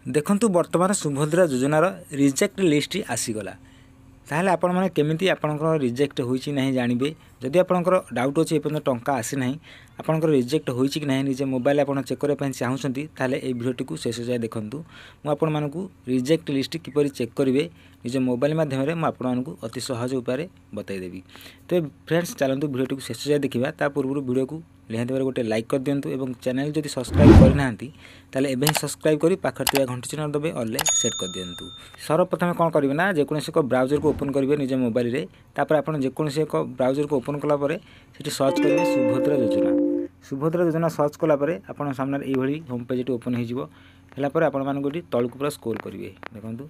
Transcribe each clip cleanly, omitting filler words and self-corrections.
ଦେଖନ୍ତୁ, ବର୍ତ୍ତମାନ ସୁଭଦ୍ରା ଯୋଜନାର ରିଜେକ୍ଟ ଲିଷ୍ଟ ଆସିଗଲା। ତାହେଲେ ଆପଣମାନେ କେମିତି ଆପଣଙ୍କର ରିଜେକ୍ଟ ହୋଇଛି ନାହିଁ ଜାଣିବେ? ଯଦି ଆପଣଙ୍କର ଡାଉଟ୍ ଅଛି, ଏପର୍ଯ୍ୟନ୍ତ ଟଙ୍କା ଆସିନାହିଁ, ଆପଣଙ୍କର ରିଜେକ୍ଟ ହୋଇଛି କି ନାହିଁ ନିଜେ ମୋବାଇଲ ଆପଣ ଚେକ୍ କରିବା ପାଇଁ ଚାହୁଁଛନ୍ତି, ତାହେଲେ ଏଇ ଭିଡ଼ିଓଟିକୁ ଶେଷ ଯାଏ ଦେଖନ୍ତୁ। ମୁଁ ଆପଣମାନଙ୍କୁ ରିଜେକ୍ଟ ଲିଷ୍ଟ କିପରି ଚେକ୍ କରିବେ ନିଜ ମୋବାଇଲ ମାଧ୍ୟମରେ, ମୁଁ ଆପଣମାନଙ୍କୁ ଅତି ସହଜ ଉପାୟରେ ବତାଇଦେବି। ତେବେ ଫ୍ରେଣ୍ଡସ୍, ଚାଲନ୍ତୁ ଭିଡ଼ିଓଟିକୁ ଶେଷ ଯାଏ ଦେଖିବା। ତା ପୂର୍ବରୁ ଭିଡ଼ିଓକୁ ନିହାତି ଭାବରେ ଗୋଟେ ଲାଇକ୍ କରିଦିଅନ୍ତୁ ଏବଂ ଚ୍ୟାନେଲ୍ ଯଦି ସବସ୍କ୍ରାଇବ୍ କରିନାହାନ୍ତି, ତାହେଲେ ଏବେ ହିଁ ସବସ୍କ୍ରାଇବ୍ କରି ପାଖରେ ଥିବା ଘଣ୍ଟି ଚିହ୍ନ ଦବାଇ ଅଲ୍ରେ ସେଟ୍ କରିଦିଅନ୍ତୁ। ସର୍ବପ୍ରଥମେ କ'ଣ କରିବେ ନା, ଯେକୌଣସି ଏକ ବ୍ରାଉଜରକୁ ଓପନ୍ କରିବେ ନିଜ ମୋବାଇଲରେ। ତାପରେ ଆପଣ ଯେକୌଣସି ଏକ ବ୍ରାଉଜରକୁ ଓପନ୍ କଲା ପରେ ସେଠି ସର୍ଚ୍ଚ କରିବେ ସୁଭଦ୍ରା ଯୋଜନା। ସୁଭଦ୍ରା ଯୋଜନା ସର୍ଚ୍ଚ କଲା ପରେ ଆପଣଙ୍କ ସାମ୍ନାରେ ଏଇଭଳି ହୋମ୍ ପେଜ୍ଟି ଓପନ୍ ହେଇଯିବ। ହେଲା ପରେ ଆପଣମାନଙ୍କୁ ଏଠି ତଳକୁ ପୁରା ସ୍କ୍ରୋଲ୍ କରିବେ। ଦେଖନ୍ତୁ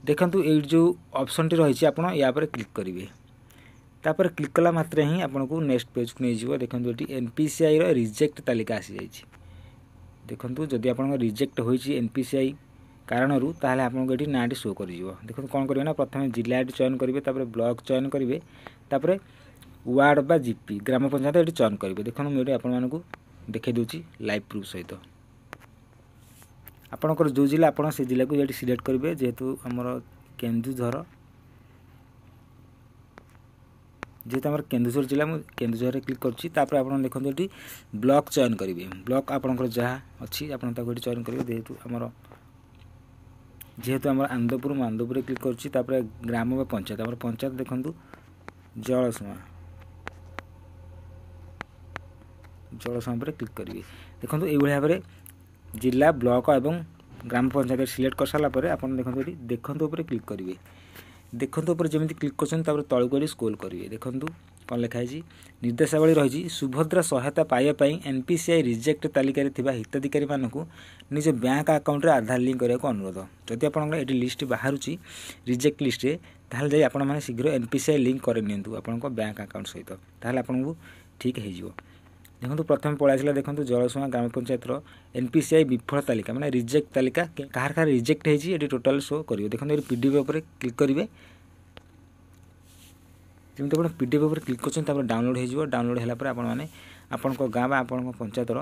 ଦେଖନ୍ତୁ, ଏଇଠି ଯେଉଁ ଅପସନ୍ଟି ରହିଛି, ଆପଣ ୟା ଉପରେ କ୍ଲିକ୍ କରିବେ। ତାପରେ କ୍ଲିକ୍ କଲା ମାତ୍ରେ ହିଁ ଆପଣଙ୍କୁ ନେକ୍ସଟ ପେଜ୍କୁ ନେଇଯିବ। ଦେଖନ୍ତୁ, ଏଠି ଏନ୍ପିସିଆଇର ରିଜେକ୍ଟ ତାଲିକା ଆସିଯାଇଛି। ଦେଖନ୍ତୁ, ଯଦି ଆପଣଙ୍କ ରିଜେକ୍ଟ ହୋଇଛି ଏନ୍ପିସିଆଇ କାରଣରୁ, ତାହେଲେ ଆପଣଙ୍କୁ ଏଠି ନାଁଟି ଶୋ କରିଯିବ। ଦେଖନ୍ତୁ, କ'ଣ କରିବେ ନା, ପ୍ରଥମେ ଜିଲ୍ଲା ଏଠି ଚୟନ କରିବେ, ତାପରେ ବ୍ଲକ ଚୟନ କରିବେ, ତାପରେ ୱାର୍ଡ଼ ବା ଜିପି, ଗ୍ରାମ ପଞ୍ଚାୟତ ଏଠି ଚୟନ କରିବେ। ଦେଖନ୍ତୁ, ମୁଁ ଏଠି ଆପଣମାନଙ୍କୁ ଦେଖାଇ ଦେଉଛି ଲାଇଭ୍ ପ୍ରୁଫ୍ ସହିତ। ଆପଣଙ୍କର ଯେଉଁ ଜିଲ୍ଲା, ଆପଣ ସେ ଜିଲ୍ଲାକୁ ଏଠି ସିଲେକ୍ଟ କରିବେ। ଯେହେତୁ ଆମର କେନ୍ଦୁଝର ଜିଲ୍ଲା, ମୁଁ କେନ୍ଦୁଝରରେ କ୍ଲିକ୍ କରୁଛି। ତାପରେ ଆପଣ ଦେଖନ୍ତୁ, ଏଠି ବ୍ଲକ୍ ଚୟନ କରିବେ। ବ୍ଲକ୍ ଆପଣଙ୍କର ଯାହା ଅଛି, ଆପଣ ତାକୁ ଏଠି ଚୟନ କରିବେ। ଯେହେତୁ ଆମର ଆନନ୍ଦପୁର, ମୁଁ ଆନନ୍ଦପୁରରେ କ୍ଲିକ୍ କରୁଛି। ତାପରେ ଗ୍ରାମ ବା ପଞ୍ଚାୟତ, ଆମର ପଞ୍ଚାୟତ ଦେଖନ୍ତୁ ଜଳସୁଆଁ। ଜଳସୁଆଁ ଉପରେ କ୍ଲିକ୍ କରିବେ। ଦେଖନ୍ତୁ, ଏଇଭଳି ଭାବରେ ଜିଲ୍ଲା, ବ୍ଲକ ଏବଂ ଗ୍ରାମ ପଞ୍ଚାୟତ ସିଲେକ୍ଟ କରିସାରିଲା ପରେ ଆପଣ ଦେଖନ୍ତୁ, ଏଠି ଦେଖନ୍ତୁ ଉପରେ କ୍ଲିକ୍ କରିବେ। ଦେଖନ୍ତୁ ଉପରେ ଯେମିତି କ୍ଲିକ୍ କରୁଛନ୍ତି, ତାପରେ ତଳକୁ ଏଠି ସ୍କ୍ରୋଲ୍ କରିବେ। ଦେଖନ୍ତୁ କ'ଣ ଲେଖା ହେଇଛି। ନିର୍ଦ୍ଦେଶାବଳୀ ରହିଛି, ସୁଭଦ୍ରା ସହାୟତା ପାଇବା ପାଇଁ ଏନ୍ପିସିଆଇ ରିଜେକ୍ଟ ତାଲିକାରେ ଥିବା ହିତାଧିକାରୀମାନଙ୍କୁ ନିଜ ବ୍ୟାଙ୍କ ଆକାଉଣ୍ଟରେ ଆଧାର ଲିଙ୍କ୍ କରିବାକୁ ଅନୁରୋଧ। ଯଦି ଆପଣଙ୍କର ଏଠି ଲିଷ୍ଟ ବାହାରୁଛି ରିଜେକ୍ଟ ଲିଷ୍ଟରେ, ତାହେଲେ ଯାଇ ଆପଣମାନେ ଶୀଘ୍ର ଏନ୍ପିସିଆଇ ଲିଙ୍କ୍ କରିନିଅନ୍ତୁ ଆପଣଙ୍କ ବ୍ୟାଙ୍କ ଆକାଉଣ୍ଟ ସହିତ। ତାହେଲେ ଆପଣଙ୍କୁ ଠିକ୍ ହେଇଯିବ। ଦେଖନ୍ତୁ, ପ୍ରଥମେ ପଳାଇ ଆସିଲା। ଦେଖନ୍ତୁ, ଜଳସୁଆଁ ଗ୍ରାମ ପଞ୍ଚାୟତର ଏନ୍ପିସିଆଇ ବିଫଳ ତାଲିକା, ମାନେ ରିଜେକ୍ଟ ତାଲିକା, କାହାର କାହାର ରିଜେକ୍ଟ ହେଇଛି ଏଠି ଟୋଟାଲ୍ ଶୋ କରିବ। ଦେଖନ୍ତୁ, ଏଠି ପିଡିଏଫ୍ ଉପରେ କ୍ଲିକ୍ କରିବେ। ଯେମିତି ଆପଣ ପିଡିଏଫ୍ ଉପରେ କ୍ଲିକ୍ କରୁଛନ୍ତି, ତାପରେ ଡାଉନଲୋଡ଼ ହେଇଯିବ। ଡାଉନଲୋଡ଼ ହେଲା ପରେ ଆପଣମାନେ ଆପଣଙ୍କ ଗାଁ ବା ଆପଣଙ୍କ ପଞ୍ଚାୟତର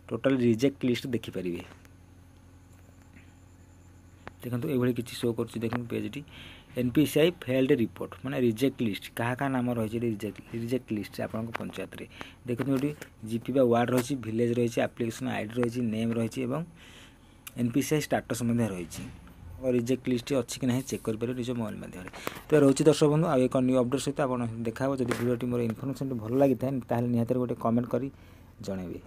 ଟୋଟାଲ୍ ରିଜେକ୍ଟ ଲିଷ୍ଟ ଦେଖିପାରିବେ। ଦେଖନ୍ତୁ, ଏଇଭଳି କିଛି ଶୋ କରୁଛି। ଦେଖନ୍ତୁ ପେଜ୍ଟି, ଏନ୍ପିସିଆଇ ଫେଲ୍ଡ ରିପୋର୍ଟ, ମାନେ ରିଜେକ୍ଟ ଲିଷ୍ଟ, କାହା କାହା ନାମ ରହିଛି ଏଠି ରିଜେକ୍ଟ ଲିଷ୍ଟ ଆପଣଙ୍କ ପଞ୍ଚାୟତରେ। ଦେଖନ୍ତୁ, ଏଠି ଜିପି ବା ୱାର୍ଡ଼ ରହିଛି, ଭିଲେଜ୍ ରହିଛି, ଆପ୍ଲିକେସନ୍ ଆଇଡ଼ି ରହିଛି, ନେମ୍ ରହିଛି ଏବଂ ଏନ୍ପିସିଆଇ ଷ୍ଟାଟସ୍ ମଧ୍ୟ ରହିଛି। ରିଜେକ୍ଟ ଲିଷ୍ଟ ଅଛି କି ନାହିଁ ଚେକ୍ କରିପାରିବେ ନିଜ ମୋବାଇଲ ମାଧ୍ୟମରେ। ତ ରହୁଛି ଦର୍ଶକ ବନ୍ଧୁ, ଆଉ ଏକ ନ୍ୟୁ ଅପଡ଼େଟ୍ ସହିତ ଆପଣ ଦେଖା ହେବ। ଯଦି ଭିଡ଼ିଓଟି, ମୋର ଇନଫର୍ମେସନ୍ଟି ଭଲ ଲାଗିଥାଏ, ତାହେଲେ ନିହାତି ଗୋଟେ କମେଣ୍ଟ କରି ଜଣାଇବେ।